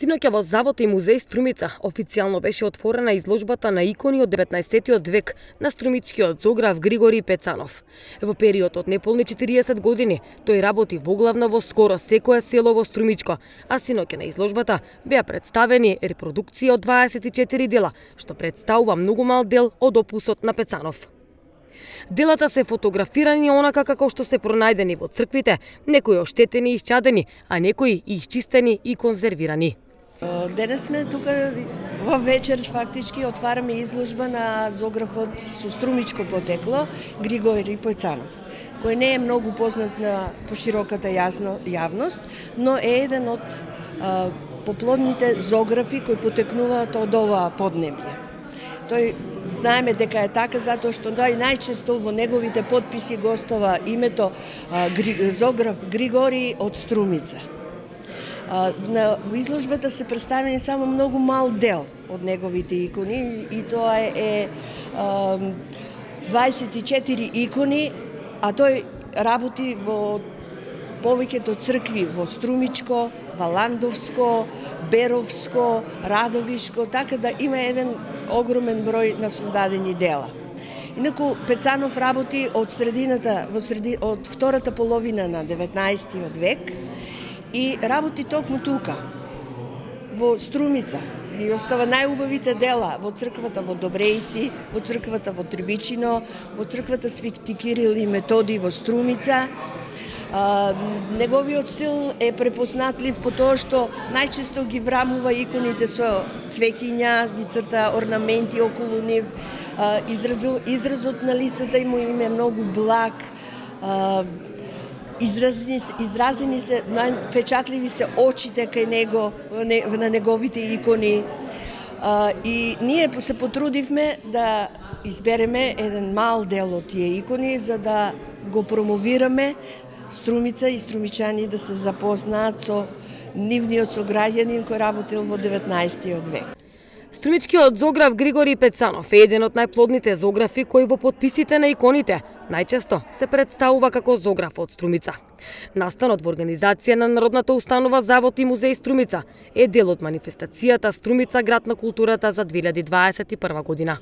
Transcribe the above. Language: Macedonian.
Синоќа во Завод и музеј Струмица официјално беше отворена изложбата на икони од 19-тиот век на струмичкиот зограф Григорий Пецанов. Во период од неполни 40 години тој работи воглавно во скоро секое село во Струмичко, а синоќа на изложбата беа представени репродукции од 24 дела, што представува многу мал дел од опусот на Пецанов. Делата се фотографирани онака како што се пронајдени во црквите, некои оштетени и исчадени, а некои и исчистени и конзервирани. Денес сме тука во вечер, фактички отвараме изложба на зографот со струмичко потекло Григорий Пецанов, кој не е многу познат на пошироката јавност, но е еден од поплодните зографи кои потекнуваат од ова поднебје. Тој знаеме дека е така затоа што најчесто во неговите потписи гостува името зограф Григорий од Струмица. На изложбата се представени само многу мал дел од неговите икони и тоа е 24 икони, а тој работи во повеќето цркви во Струмичко, Валандовско, Беровско, Радовишко, така да има еден огромен број на создадени дела. Инаку Пецанов работи од од втората половина на 19-тиот век и работи токму тука, во Струмица. И остава најубавите дела во црквата во Добрејци, во црквата во Трбичино, во црквата Свети Кирил и Методи во Струмица. Неговиот стил е препознатлив по тоа што најчесто ги врамува иконите со цвеќиња, ги црта орнаменти околу нив, изразот на лицата му им е многу благ, изразени се, највпечатливи се очите кај него, на неговите икони. И ние се потрудивме да избереме еден мал дел од тие икони за да го промовираме Струмица и струмичани да се запознаат со нивниот сограѓанин кој работил во 19-тиот век. Струмичкиот зограф Григорий Пецанов е еден од најплодните зографи кои во потписите на иконите најчесто се представува како зограф од Струмица. Настанот во организација на Народната установа Завод и музеј Струмица е дел од манифестацијата Струмица град на културата за 2021 година.